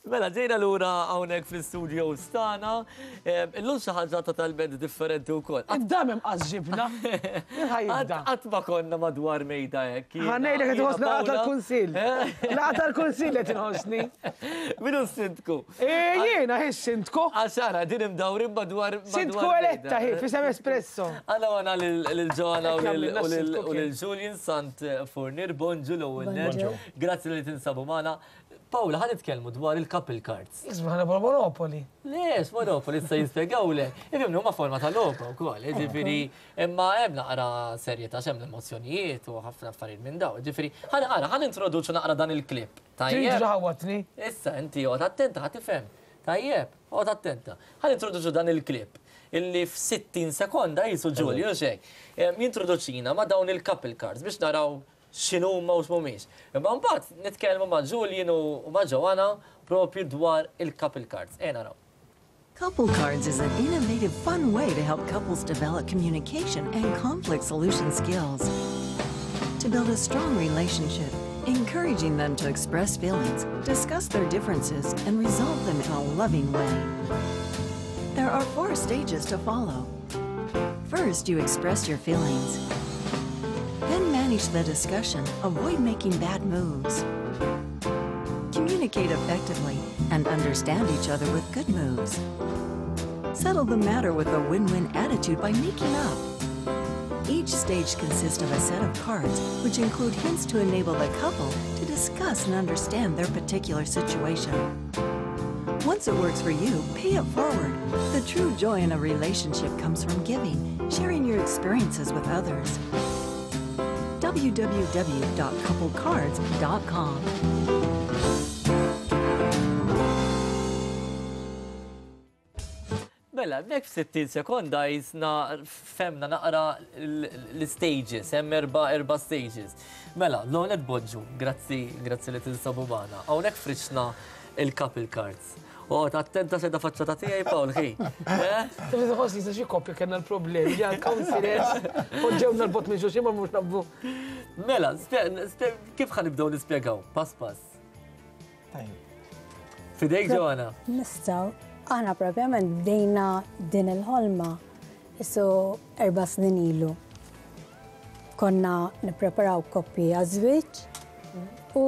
Mela, ġejna lura hawnhekk fl-istudios tagħna. Illum xi ħaġa totalment differenti wkoll. Id-dam imqas ġibna. Min ħa jibda? Qatt ma konna madwar mejda hekk. Ħa ngħidlek qed inħossni laqgħa tal-kunsill. Laqgħa tal-kunsill qed inħossni. Min hu s-sindku? Eh, jiena hi s-sindku. Għax ara din imdawrin madwar. Sindku eletta hi f'isem Espresso. Għana għana lil Joanna u lil Julian Sant Fournier, bonġu l-ewwel nett. Grazzi li tinsabu magħna. Paola, ħa nitkellmu dwar il-couple cards. Isma' ħana Monopoli. Le, Monopoli issa jispjegawlek. Ifhimni huma forma ta' logħba wkoll, jiġifieri imma hemm naqra serjetà x'hemm l-emozzjonijiet u ħafna affarijiet minn dawn. Jiġifieri ħa ara ħa nintroduċu naqra dan il-clip. Tajjeb. Trid ħawatni. Issa inti oqgħod attenta ħa tifhem. Tajjeb, oqgħod attenta. Ħa nintroduċu dan il-clip illi f'60 sekonda qisu Ġulju xejn. Jintroduċina ma' dawn il-couple cards biex naraw x'inhuma u x'mhumiex. Imma mbagħad nitkellmu ma' Julian u ma' Joanna propju dwar il-couple cards. Ejja naraw. Couple Cards is an innovative, fun way to help couples develop communication and conflict solution skills. To build a strong relationship, encouraging them to express feelings, discuss their differences, and resolve them in a loving way. There are four stages to follow. First, you express your feelings. Then manage the discussion, avoid making bad moves. Communicate effectively and understand each other with good moves. Settle the matter with a win-win attitude by making up. Each stage consists of a set of cards which include hints to enable the couple to discuss and understand their particular situation. Once it works for you, pay it forward. The true joy in a relationship comes from giving, sharing your experiences with others. www.couplecards.com. Mela, hemmhekk f'60 sekonda jisna femna naqra l-stages, hemm erba' erba' stages. Mela, l-ewwel qed bonġu, grazzi, grazzi li tinsabu magħna. Hawnhekk friċna il-couple cards. Oqgħod attenta se da faċċata tiegħi Paul ħi. Eh? Taf tħoss li xi koppja kellna l-problemi li għal counselors poġġewna l-bot minn xulxin ma mhux nabbu. Mela, kif ħa nibdew nispjegaw? Pass pass. Fidejk Joanna. Nistgħu. Aħna propjament bdejna din il-ħolma isu erba' snin ilu. Konna nippreparaw koppji għaż-żwieġ u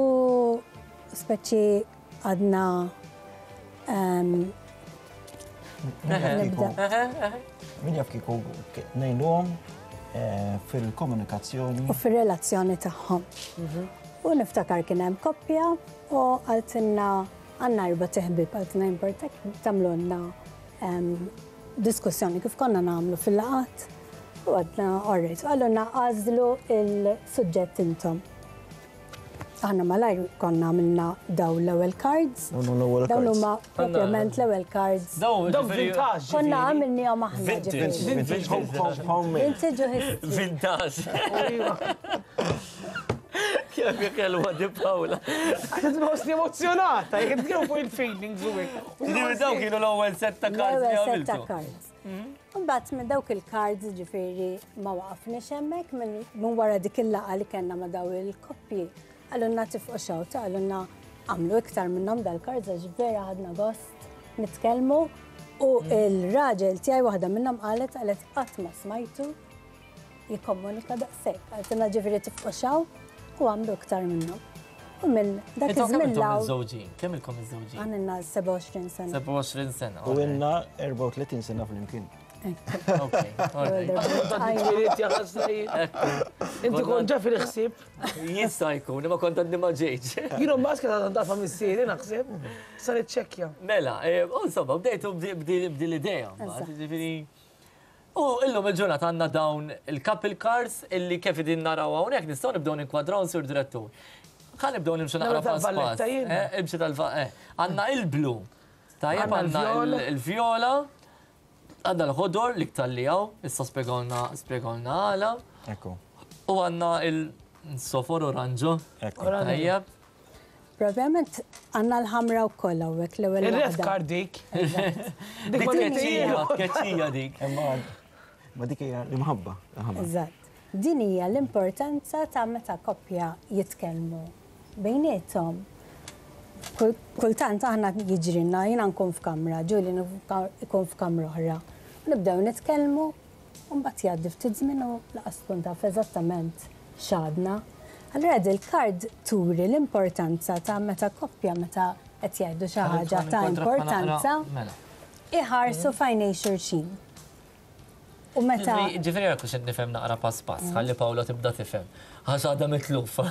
speċi għadna Min jaf kieku ngħinuhom eh, fil-komunikazzjoni. U fir-relazzjoni tagħhom. Mhm. U niftakar kien hemm koppja u qaltilna għandna erba' teħbib qaltilna importak tagħmlulna diskussjoni kif konna nagħmlu fil-laqat u għadna alright. Għalluna għażlu il-suġġett intom. Aħna malajr konna għamilna daw l-ewwel cards. Dawn huma propjament l-ewwel cards. Dawn vintage. Konna għamilnihom aħna. Vintage. Vintage homemade. Vintage u history. Vintage. Kemm kelwa di Paola. Għax nħossni emozjonata, jekk nitkellmu fuq il-feelings u hekk. Dawn kienu l-ewwel set ta' cards li L-ewwel set ta' għamiltu. cards. Imbagħad minn dawk il-cards ġifieri ma waqafniex hemmhekk minn wara dik il-laqgħa li kellna ma' daw il-koppji. Qalulna tifqu xewta, qalulna għamlu iktar minnhom dal-cards għax vera ħadna gost nitkellmu u il-raġel tiegħi waħda minnhom qalet qalet qatt ma smajtu jikkomunika daqshekk. Qaltilna ġifieri tifqu xaw u għamlu iktar minnhom. U minn dak iż-żmien l Miżżewġin, kemm ilkom miżżewġin? Għandna 27 sena. 27 sena. U ilna 34 sena flimkien. Inti kont ġa fil-ħsieb. Jista' jkun, imma kont għadni ma ġejtx. Jien mbagħad kien għadha tafa missieri naħseb, sa niċċekkja. Mela, eh, insomma, bdejtu b'din l-idea, mbagħad, ġifieri. U illum il-ġurnata għandna dawn il-couple cars illi kif qegħdin naraw hawnhekk nistgħu nibdew ninkwadraw Sur Direttur. Ħa nibdew nimxu naqra pass pass. Eh, imxi tal eh. Għandna il-blu. Tajjeb għandna il-vjola, għandna l-ħodor l-iktar li hawn, issa spjegawlna spjegawlna għala. Ekku. U għandna il-sofor oranġo. Ekku. Tajjeb. Propjament għandna l-ħamra wkoll hawnhekk l-ewwel Ir-red card dik. Dik tkeċċija, tkeċċija dik. Ma dik hija l-imħabba. Eżatt. Din hija l-importanza ta' meta koppja jitkellmu bejniethom. Kultant aħna jiġrilna, jiena nkun f'kamra, Julian ikun f'kamra oħra. U nibdew nitkellmu, u mbagħad jgħaddi ftit żmien u lanqas tkun taf eżattament x'għadna. Allura dil-card turi l-importanza ta' meta koppja meta qed jgħidu xi ħaġa ta' importanza iħarsu f'għajnejn xulxin. U meta. Ġifieri jekk hux nifhem naqra pass pass, ħalli Paola tibda tifhem, għax għadha mitlufa.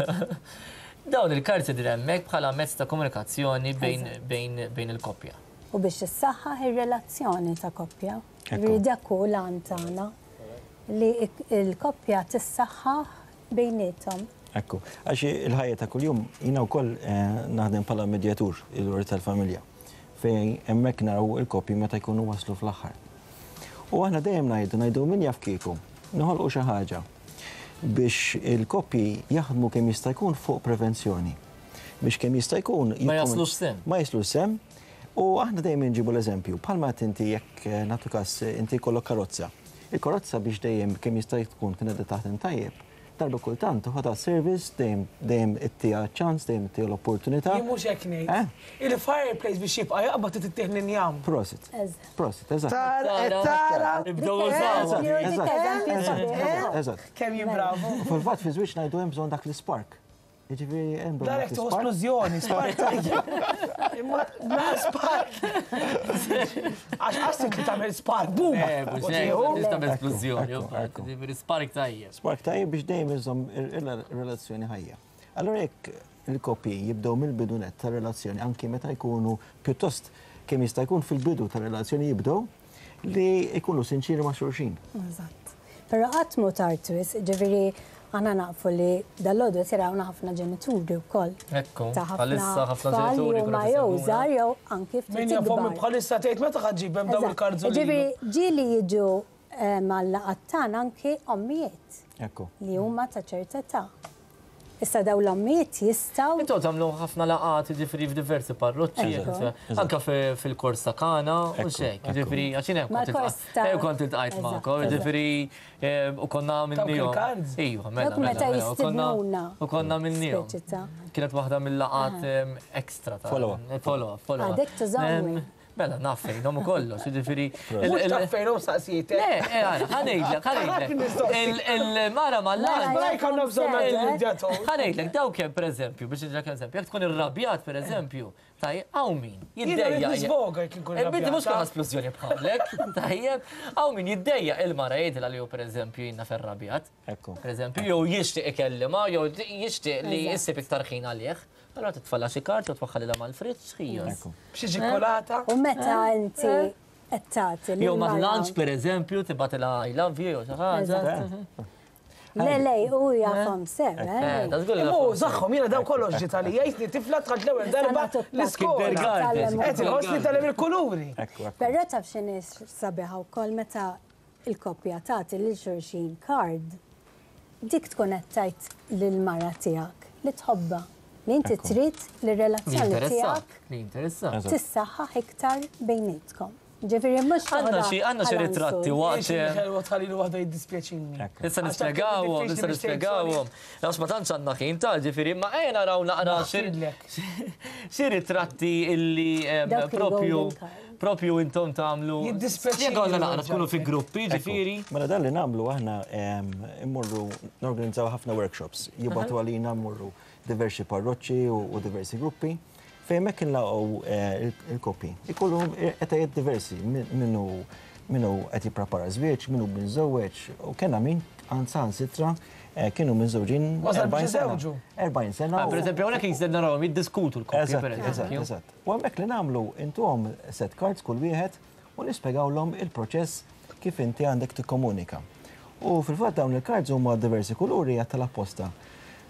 Dawn il-karti qegħdin hemmhekk bħala mezz ta' komunikazzjoni bejn il-koppja. U biex issaħħaħ ir-relazzjoni ta' koppja. Ġifieri dak hu l-għan tagħna li l-koppja tissaħħaħ bejniethom. Ekku, għax il-ħajja ta' kuljum jiena wkoll naħdem bħala medjatur il-Qorti tal-Familja fejn hemmhekk naraw il-koppji meta jkunu waslu fl-aħħar. U aħna dejjem ngħidu, ngħidu min jaf kieku, noħolqu xi ħaġa biex il-koppji jaħdmu kemm jista' jkun fuq prevenzjoni. Biex kemm jista' jkun. Ma jaslux sehem. Ma jaslux sehem. U aħna dejjem inġibu l-eżempju, bħalma qed inti jekk nagħtu każ inti jkollok karozza. Il-karozza biex dejjem kemm jista' tkun kien qiegħda taħdem tajjeb, darba kultant toħodha service, dejjem dejjem ittiha ċans, dejjem ittiha l-opportunità. Jien mhux hekk ngħid. Il-fireplace biex jibqa' jaqbad trid ittih l-injam. Prosit. Prosit, eżatt. Tara, qed tara. Nibdew użawha. Eżatt, eżatt. Kemm jien bravu. Fil-fatt fi żwieġ ngħidu hemm bżonn dak l-ispark. Jiġifieri hemm bżonn. Darek tuħu splużjoni, spark tajjeb. Imma la spark. Għax qastik li tagħmel spark, boom! Eh, mhux hekk, tagħmel splużjoni, jiġifieri spark tajjeb. Spark tajjeb biex dejjem iżomm ir-relazzjoni ħajja. Allura jekk il-koppji jibdew mill-bidu nett tar-relazzjoni anki meta jkunu pjuttost kemm jista' jkun fil-bidu tar-relazzjoni jibdew li jkunu sinċieri ma' xulxin. Eżatt. Però qatt mhu tard wisq, ġifieri aħna nafu li dalgħodu qed jarawna ħafna ġenituri wkoll. Ekku, bħalissa ħafna ġenituri huma jew żgħar jew anki ftit Min jaf ommi bħalissa tgħid meta ħa ġġibhem dawn il-kardzolini. Ġifieri ġieli jiġu mal-laqgħat tagħna anki ommijiet. Ekku. Li huma ta' ċerta età. Issa dawn l-ommijiet jistgħu. Intom tagħmlu ħafna laqgħat jiġifieri f'diversi parroċċi, anke fil-kors ta' Kana u x'hekk, jiġifieri għax jien hemm kont iltqajt magħkom, jiġifieri u konna għamilniehom. Iva, mela. Dawk meta jistidnuna. U konna għamilniehom. Kienet waħda mill-laqgħat extra ta' Follow up. Follow up, follow up. Għadek tużawni. Mela, naf fejnhom u kollox, jiġifieri. Mhux taf fejnhom saqsietek. Le, eh, ara, ħa ngħidlek, ħa ngħidlek. Il-mara mal-art. Ma jkollna bżonn għad-medjatur. Ħa ngħidlek, dawk hemm pereżempju, biex ngħidlek eżempju, jekk tkun irrabjat pereżempju, tajjeb, hawn min jiddejjaq. Nisvoga jekk inkun irrabjat. Binti mhux kulħadd splużjoni bħalek, tajjeb, hawn min jiddejjaq il-mara jgħidilha li hu pereżempju jiena ferrabjat. Pereżempju, jew jixtieq ikellimha, jew jixtieq li jsib iktar ħin għalih. Allura titfalha xi karta u twaħħalilha mal-friġġ, ħijas. B'xi ċikkulata. U meta inti qed tagħti Jew mal-lunch pereżempju tibgħatilha I love you jew xi ħaġa. Le, le, u jafhom sew, eh? Imma hu żagħhom, jiena dawn kollox ġiet għalija, jisni tifla dħalt l-ewwel darba l-iskola. Qed inħossni tgħallem il-kuluri. Però taf x'inhi sabiħa wkoll meta il-koppja tagħti lil xulxin card, dik tkun qed tgħid lill-mara tiegħek li tħobbha, li inti trid li r-relazzjoni tiegħek tissaħħaħ iktar bejnietkom. Ġifieri mhux Għandna xi għandna xi ritratti waqt. Ħelwa tħalli waħda jiddispjaċini. Issa nispjegawhom, issa nispjegawhom. Għax ma tantx għandna ħin ta' ġifieri, ma ejja naraw naqra xi ritratti illi propju Propju intom tagħmlu. Jiddispjaċini. Spjegawlna naqra tkunu fi gruppi, ġifieri. Mela dan li nagħmlu aħna immorru norganizzaw ħafna workshops. Jibgħatu għalina mmorru diversi parroċċi u diversi gruppi fejn hemmhekk inlaqgħu il-koppji. Ikollhom etajiet diversi, min hu min hu qed jipprepara żwieġ, min hu miżżewweġ, u kellna min saħansitra kienu miżżewġin 40 sena. 40 sena. Per eżempju, hawnhekk jista' narawhom jiddiskutu l-koppji, per eżempju. Eżatt, eżatt. U hemmhekk li nagħmlu intuhom set cards kull wieħed u nispjegawlhom il-proċess kif inti għandek tikkomunika. U fil-fatt dawn il-cards huma diversi kuluri għad tal-apposta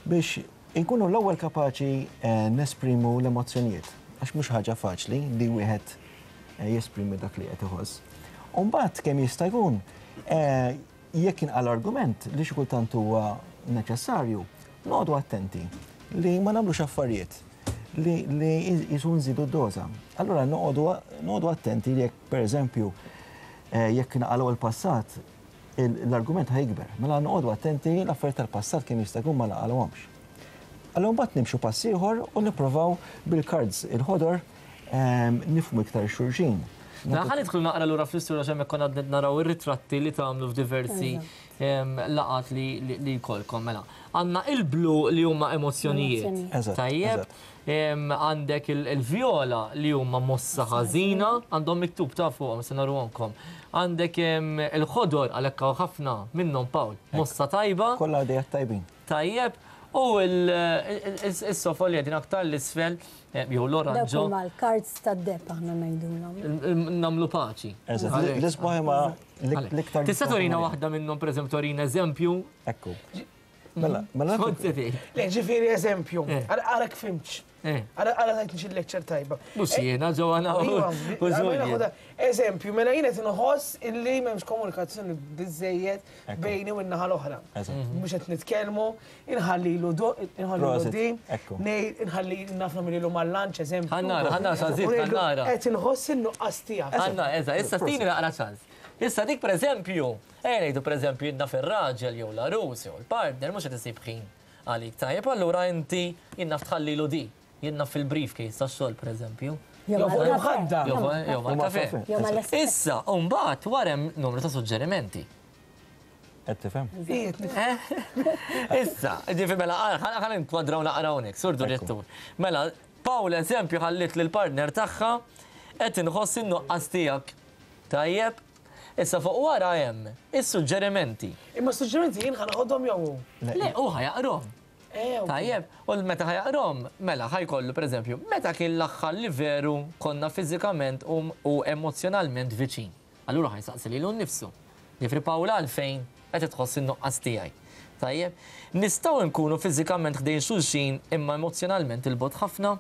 biex inkunu l-ewwel kapaċi nesprimu l-emozzjonijiet għax mhux ħaġa faċli li wieħed jesprimi dak li qed iħoss. U mbagħad kemm jista' jkun jekk inqal argument li xi kultant huwa neċessarju, noqogħdu attenti li ma nagħmlux affarijiet li li jisu nżidu d-doża. Allura noqogħdu noqogħdu attenti li jekk pereżempju jekk naqalgħu l-passat l-argument ħa jikber. Mela noqogħdu attenti l-affarijiet tal-passat kemm jista' jkun ma naqalgħuhomx. Allura mbagħad nimxu pass ieħor u nipprovaw bil-cards il-ħodor nifhmu iktar xulxin. Mela ħa nidħlu naqra lura fl-istorja għax hemmhekk konna qed naraw ir-ritratti li tagħmlu f'diversi laqgħat li jkollkom. Mela, għandna il-blu li huma emozzjonijiet. Tajjeb. Għandek il-vjola li huma mossa ħażina, għandhom miktub ta' fuqhom se naruhomkom. Għandek il-ħodor għalhekk hawn ħafna minnhom Pawl, mossa tajba. Kollha għadejat tajbin. Tajjeb, u s-sofol li qegħdin aktar l-isfel, jew l-oranġo. Dawk huma l-cards tad-deheb aħna ngħidulhom. Nagħmlu paċi. Eżatt, l-isbaħ imma l-iktar. Tista' turina waħda minnhom, pereżempju, turina eżempju? Ekku. Mela, mela. Skont se tgħid. Le, ġifieri eżempju, ara kif fhimtx. Ara ara tajtni xi lecture tajba. Mhux jiena Joanna u Julian. Eżempju, mela jien qed inħoss illi m'hemmx komunikazzjoni biżejjed bejni u n-naħa l-oħra. Mhux qed nitkellmu, inħallilu inħallilu din, ngħid inħalli naf nagħmlilu mal-lunch eżempju. Ħa nara, ħa nara x'għażilt, ħa nara. Qed inħoss in-nuqqas tiegħek. Ħa nara, eżatt, issa tini naqra ċans. Issa dik pereżempju, ejja ngħidu pereżempju jien naf ir-raġel jew l-għarus jew il-partner mhux qed isib ħin għalik. Tajjeb, allura inti jien naf tħallilu di. Jien naf fil-briefcase tax-xogħol pereżempju. Jew fuq il-mħadda. Jew mal-kafè. Issa, u mbagħad wara hemm numru ta' suġġerimenti. Qed tifhem? Issa, ġifi mela ħa ninkwadraw naqra hawnhekk, sur direttur. Mela, Paul eżempju ħalliet lill-partner tagħha qed inħoss in-nuqqas tiegħek. Tajjeb? Issa fuq wara hemm is-suġġerimenti. Imma s-suġġerimenti jien ħa noħodhom jew hu? Le, hu ħa jaqrahom. Tajjeb, u meta ħa jaqrahom, mela ħa jkollu pereżempju, meta kien l-aħħar li veru konna fiżikament u emozzjonalment viċin? Allura ħa jsaqsi lilu nnifsu. Jiġifieri Paula għalfejn qed tħoss in-nuqqas tiegħi? Tajjeb? Nistgħu nkunu fiżikament ħdejn xulxin imma emozzjonalment 'il bogħod ħafna?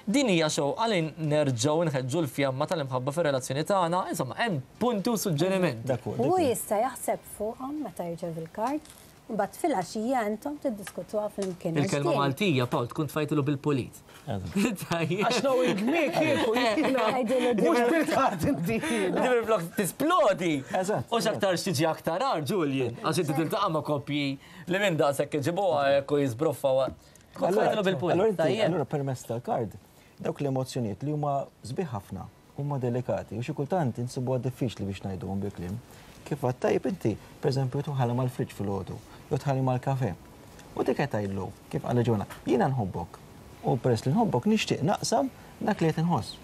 Din hija xewqa li nerġgħu nħeġġu l-fjamma tal-imħabba fir-relazzjoni tagħna, insomma hemm punti u suġġerimenti. Hu jista' jaħseb fuqhom meta jirċevi l-kard, imbagħad filgħaxija intom tiddiskutuha flimkien. Il-kelma Maltija, Paul, tkun tfajtilu bil-pulit. Għax knowing me kieku jiena. Mhux bil-kard inti. Ġifieri flok tisplodi. Eżatt. U x'aktarx tiġi aktar agħar, Julian, għax inti tiltaqa' ma' koppji li minn daqshekk iġibuha hekk u jiżbroffaw. Allura permezz tal-kard, dawk l-emozzjonijiet li huma sbieħ ħafna, huma delikati u xi kultant insibuha diffiċli biex ngħiduhom bil-kliem. Kif għedt tajjeb inti, pereżempju, tħalli mal-friġġ filgħodu, jew tħalli mal-kafè. U dik qed tgħidlu, kif qalet Joanna, jiena nħobbok. U peress li nħobbok nixtieq naqsam dak li qed inħoss.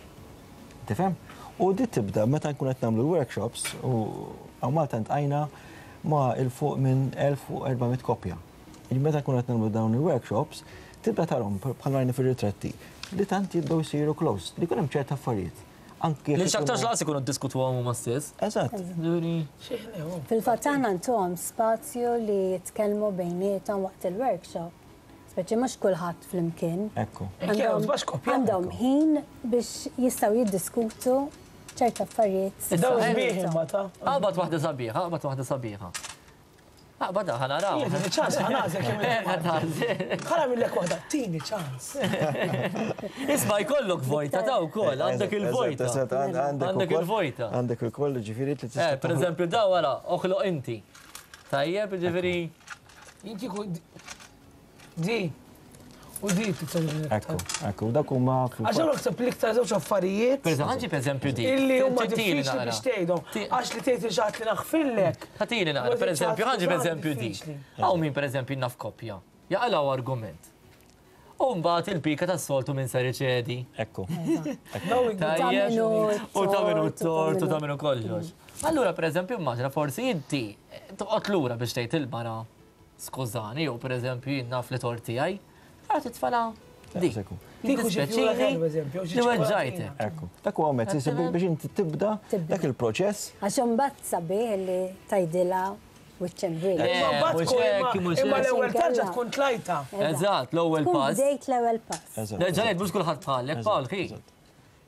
Tifhem? U di tibda meta nkun qed nagħmlu l-workshops u hawn Malta ntqajna ma' 'il fuq minn 1400 koppja. Jiġifieri meta nkunu qed nagħmlu dawn il-workshops, tibda tarhom bħal rajna fir-ritratti li tant jibdew isiru close, li jkun hemm ċerta affarijiet. Anki Li x'aktarx lanqas ikunu ddiskutuhom huma stess. Eżatt. Fil-fatt aħna ntuhom spazju li jitkellmu bejniethom waqt il-workshop. Speċi mhux kulħadd flimkien. Ekku. Għandhom ħin biex jistgħu jiddiskutu ċerta affarijiet. Dawn sbieħ imma ta. Aqbad waħda sabiħa, aqbad waħda sabiħa. Aqbad ħa naraw. Tini ċans, ħa nagħżel kemm Ħa nagħmillek waħda, tini ċans. Isma' jkollok vojta ta' wkoll, għandek il-vojta. Għandek il-vojta. Għandek ukoll, ġifieri li tista'. Eh, pereżempju daw wara, oħloq inti. Tajjeb, ġifieri. Inti Di. U di titsa Ekku, ekku, dak huma. Għax hawn naħseb l-iktar żewġ affarijiet. Per eżempju, per eżempju di. Illi huma diffiċli biex tgħidhom. Għax li tgħid xi ħadd li naħfillek. Ħatini naqra, per eżempju, ħanġi per eżempju di. Hawn min per eżempju naf koppja. Jaqalgħu argument. U mbagħad il-pika tas-soltu minn ser iċedi. Ekku. Tajjeb. U ta' minu t-tort, u ta' minu kollox. Allura, per eżempju, immaġina forsi inti toqgħod lura biex tgħid il-mara Skużani, jew pereżempju jien naf li tort tiegħi, ara titfala dik. Jiddispjaċini li weġġajtek. Ekku. Dak huwa mezz biex inti tibda dak il-proċess. Għax imbagħad sabiħ li tgħidilha wiċċ imbriet. Imma l-ewwel tarġa tkun tlajta. Eżatt, l-ewwel pass. Bdejt l-ewwel pass. Nerġa' ngħid mhux kulħadd bħalek, Paul, ħi.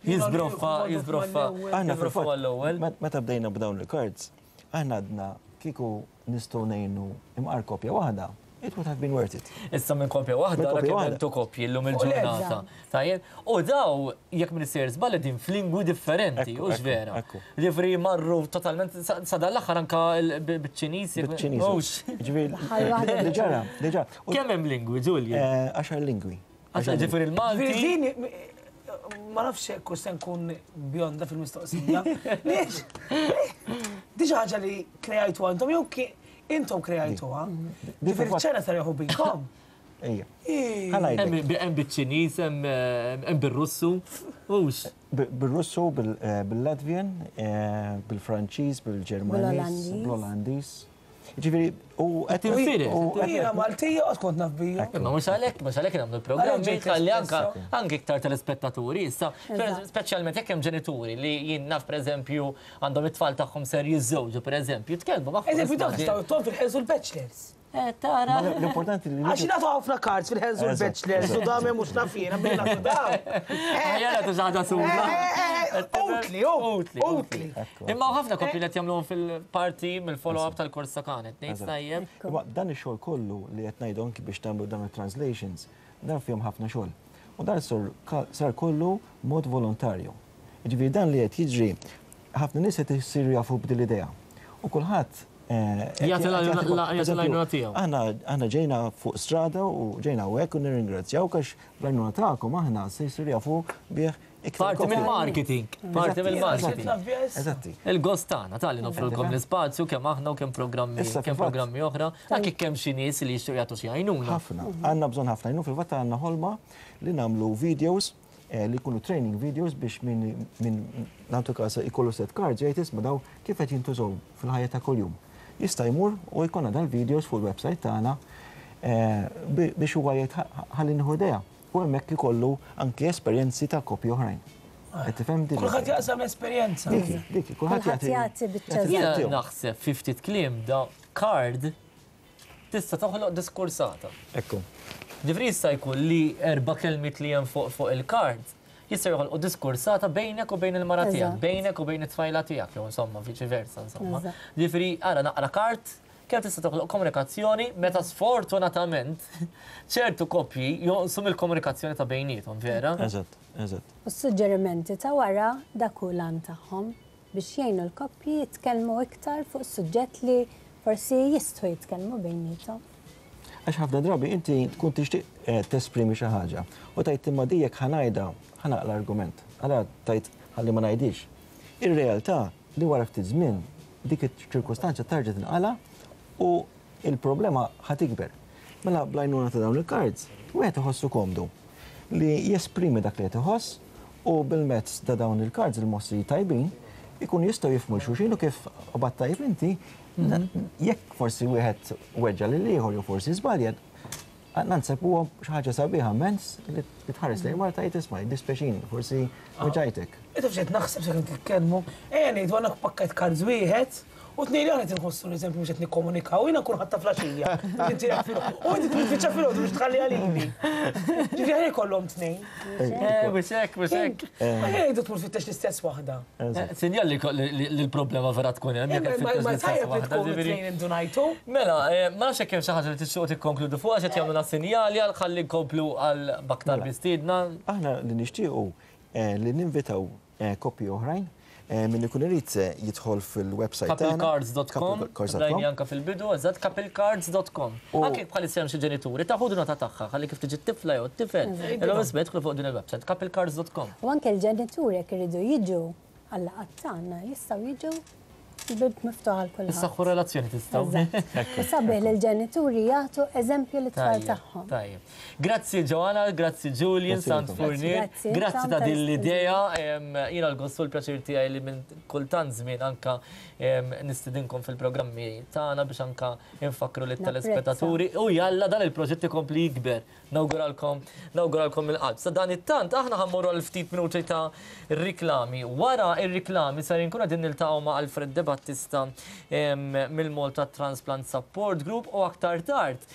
Jiżbroffa, jiżbroffa. Aħna fil-fatt l-ewwel. Meta bdejna b'dawn il-cards, aħna għadna kieku nistgħu ngħinu imqar kopja waħda. It would have been worth it. Issa minn kopja waħda, ra kemm għentu kopji llum il-ġurnata. Tajjeb, u daw, jekk minn sejjer żball qegħdin f'lingwi differenti, hux vera. Ġifieri marru totalment sa dan l-aħħar anka biċ-Ċiniż. Biċ-Ċiniż. Ġifieri li ġara, li ġara. Kemm hemm lingwi, Julian? Għaxar lingwi. Għaxar ġifieri l-Malti. Ma nafx hekk se nkun bjonda fil-mistoqsija. Di xi ħaġa li kreajtu għandhom jew Intom kreajtuha. Ġifieri ċ-Ċina sar jieħu bikom. Ejja. Hemm biċ-Ċiniż, hemm bir-Russu. Hux. Bir-Russu, bil-Latvian, bil-Franċiż, bil-Ġermaniż, bl-Olandiż. Ġifieri, u qed tinfired. Jiena Maltija qatt kont naf bija. Imma mhux għalhekk, mhux għalhekk nagħmlu l-programmi ħalli anke anke iktar telespettaturi issa, speċjalment jekk hemm ġenituri li jien naf pereżempju Għandhom it-tfal tagħhom ser jiżżewġu, pereżempju, tkellmu magħhom. Eżempju, dawk jistgħu jtuhom fil-Ħenż u l-Bachelors. Eh, tara. L-importanti li. Għax nagħtu ħafna cards fil-Ħenż u l-Bachelors u dam hemm mhux naf jiena billi nagħtu dawn. Ejja nagħtu xi ħaġa suda. Utli, utli, utli. Imma ħafna koppji li qed jagħmluhom fil-parti mill-follow-up tal-kors ta' Kanet, ngħid tajjeb. Imma dan ix-xogħol kollu li qed ngħidu anki biex tagħmlu dawn it-translations, dan fihom ħafna xogħol. U dan sar kollu mod volontarju. Jiġifieri dan li qed jiġri, ħafna nies qed isiru jafu b'din l-idea. U kulħadd jagħti l-għajnuna tiegħu. Aħna ġejna fuq strada u ġejna hawnhekk u nirringrazzjawk għax bl-għajnuna tagħkom aħna se jsiru jafu bih iktar. Parti mill-marketing, parti mill-marketing. Eżatti. Il-gost tagħna talli noffrulkom l-ispazju kemm aħna u kemm programmi kemm programmi oħra, anke kemm xi nies li jixtiequ jagħtu xi għajnuna. Ħafna, għandna bżonn ħafna għajnuna, fil-fatt għandna ħolma li nagħmlu videos li jkunu training videos biex min min nagħtu każ ikollu set cards jgħid isma' daw kif qed jintużaw fil-ħajja ta' kuljum. Jista' jmur u jkollna dal-videos fuq il-website tagħna biex huwa jgħid ħalli nieħu idea. U hemmhekk ikollu anki esperjenzi ta' koppji oħrajn. Qed tifhem din? Kulħadd jaqsam l-esperjenza. Dik, dik, kulħadd jagħti biċċa. Jiena naħseb fi ftit kliem da card tista' toħloq diskursata. Ekku. Ġifieri jista' jkun li erba' kelmiet li hemm fuq fuq il-kard jistgħu joħolqu diskursata bejnek u bejn il-mara tiegħek, bejnek u bejn it-tfajla tiegħek, jew insomma viċi versa insomma. Ġifieri ara naqra kard kemm tista' toħloq komunikazzjoni meta sfortunatament ċertu koppji jonqsu mill-komunikazzjoni ta' bejniethom, vera? Eżatt, eżatt. U s-suġġerimenti ta' wara dak hu l-għan tagħhom. biex jgħinu l-koppji jitkellmu iktar fuq suġġett li forsi jistħu jitkellmu bejniethom. Għax ħafna drabi inti tkun tixtieq eh, tesprimi xi ħaġa u tgħid imma di jekk ħa ngħidha ħa naqla' argument. Allura tgħid ħalli ma ngħidhiex. Ir-realtà li wara ftit żmien dik iċ-ċirkustanza tarġa' tinqala' u il-problema ħa tikber. Mela bl-għajnuna ta' dawn il-cards, wieħed iħossu komdu li jesprimi dak li qed iħoss u bil-mezz ta' dawn il-cards il-mossi tajbin ikunu jistgħu jifhmu 'l xulxin u kif qbadt tajjeb inti, jekk forsi wieħed weġġa' lill-ieħor jew forsi żbalja, naħseb huwa xi ħaġa sabiħa immens li tħares lejn mara tgħid isma' jiddispjaċini, forsi weġġajtek. Taf x'qed naħseb sakemm titkellmu? Ejja ngħidu għandna pakkett cards wieħed U tnejn li aħna qed inħossu l-eżempju mhux qed nikkomunikaw, jiena nkun ħadtha flaxija. U inti tfittxha filgħodu biex tħalliha lili. Ġifieri aħjar ikollhom tnejn. Eh, mhux hekk, mhux hekk. Aħjar jgħidu tmur tfittex l-istess waħda. Sinjal li l-problema vera tkun hemm jekk tfittex l-istess waħda. Ma tnejn indunajtu. Mela, ma nafx jekk hemm xi ħaġa li tixtiequ tikkonkludu fuqha x'qed jagħmluna sinjali għal ħalli nkomplu għal b'aktar mistiedna. Aħna li nixtiequ li ninvitaw Koppji oħrajn, min ikun irid jidħol fil-website tagħna. Couplecards.com, rajni anke fil-bidu, eżatt, couplecards.com. Anke jekk bħalissa hemm xi ġenituri, ta' ħudu nota tagħha ħalli kif tiġi t-tifla jew t-tifel, illum isma' jidħlu fuq din il-website, couplecards.com. U anke l-ġenituri jekk iridu jiġu għal-laqgħat tagħna jistgħu jiġu l-bieb miftuħ għal kulħadd. Issaħħu r-relazzjoni tistgħu. Eżatt. U sabiħ li l-ġenituri jagħtu eżempju lit-tfal tagħhom. Tajjeb. Grazzi Joanna, grazzi Julian, Sant Fournier, grazzi ta' din l-idea. Jiena l-gost u l-pjaċir tiegħi li minn kultant żmien anka nistidinkom fil-programmi tagħna biex anka nfakkru lit-telespettaturi u jalla dan il-proġett ikompli jikber. Nawguralkom, nawguralkom mill-qalb. Sa dan it-tant aħna ħa mmorru għal ftit minuti ta' riklami. Wara ir-riklami ser inkunu qegħdin niltaqgħu ma' Alfred De Battista mill-Malta Transplant Support Group u aktar tard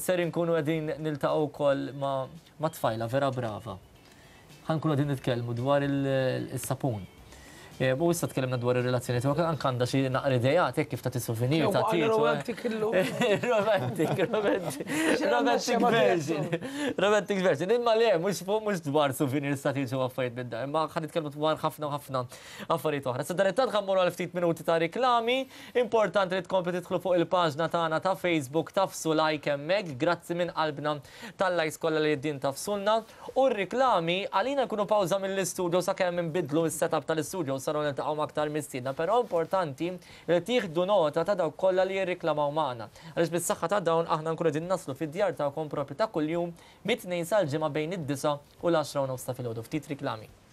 Ser inkunu qegħdin niltaqgħu wkoll ma' tfajla vera brava. Ħa nkunu qegħdin nitkellmu dwar is-sapun. U issa tkellimna dwar ir-relazzjoni tiegħek, anke għandha xi naqra ideat hekk kif tagħti souvenir ta' tieġ. Romantic illum. Romantic, romantic. Romantic version. Romantic version. Imma le, mhux mhux dwar souvenirs ta' tieġ u affarijiet minn dan, imma ħa nitkellmu dwar ħafna u ħafna affarijiet oħra. Sadanittant ħa mmorru għal ftit minuti ta' riklami. Importanti li tkompli tidħlu fuq il-paġna tagħna ta' Facebook tagħfsu like hemmhekk. Grazzi minn qalbna tal-likes kollha li qegħdin tagħfsulna. U r-riklami għalina jkunu pawża mill-istudio sakemm inbiddlu s-setup tal-istudio u saru niltaqgħu ma' aktar mistiedna, però importanti li tieħdu nota ta' dawk kollha li jirriklamaw magħna. Għaliex bis-saħħa ta' dawn aħna nkunu qegħdin naslu fid-djar tagħkom proprju ta' kuljum mit-Tnejn sal-Ġimgħa bejn id-disgħa u l-għaxra u nofs ta' filgħodu. Ftit riklami.